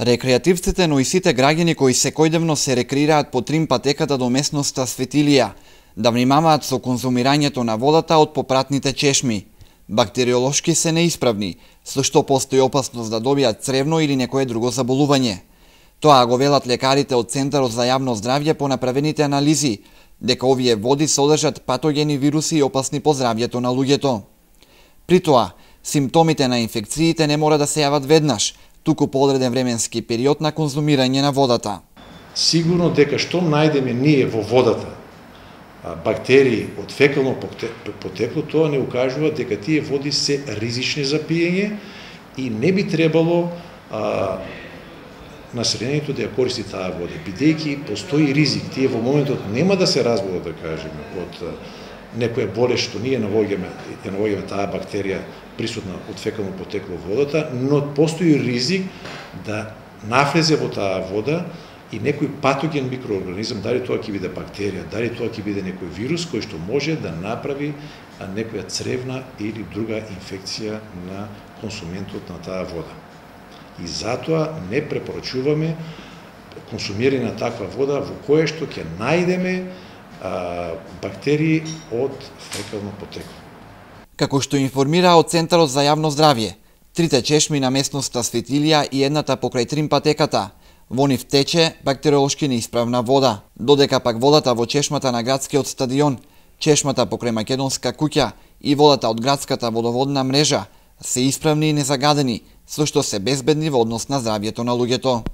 Рекреативците, но и сите граѓани кои секојдневно се рекреираат по трим патеката до местноста Светилија, да внимаваат со конзумирањето на водата од попратните чешми. Бактериолошки се неисправни, со што постои опасност да добијат цревно или некое друго заболување. Тоа го велат лекарите од Центарот за јавно здравје по направените анализи, дека овие води содржат патогени вируси и опасни по здравјето на луѓето. При тоа, симптомите на инфекциите не мора да се јават веднаш, туку по одреден временски период на конзумирање на водата. Сигурно дека што најдеме ние во водата, бактерии од фекално потекло, тоа не укажува дека тие води се ризични за пиење и не би требало населението да ја користи таа вода, бидејќи постои ризик. Тие во моментот нема да се разболат, да кажеме, од некоја болест што ние навоѓаме таа бактерија присутна од фекално потекло во водата, но постои ризик да навлезе во таа вода и некој патоген микроорганизам, дали тоа ќе биде бактерија, дали тоа ќе биде некој вирус кој што може да направи некоја цревна или друга инфекција на консументот на таа вода. И затоа не препорачуваме консумирање на таква вода во која што ќе најдеме бактерии од фекално потекло. Како што информира од Центарот за јавно здравје, трите чешми на местноста Светилија и едната покрај трим патеката, во нив тече бактериолошки неисправна вода, додека пак водата во чешмата на градскиот стадион, чешмата покрај Македонска куќа и водата од градската водоводна мрежа се исправни и незагадени, со што се безбедни во однос на здравјето на луѓето.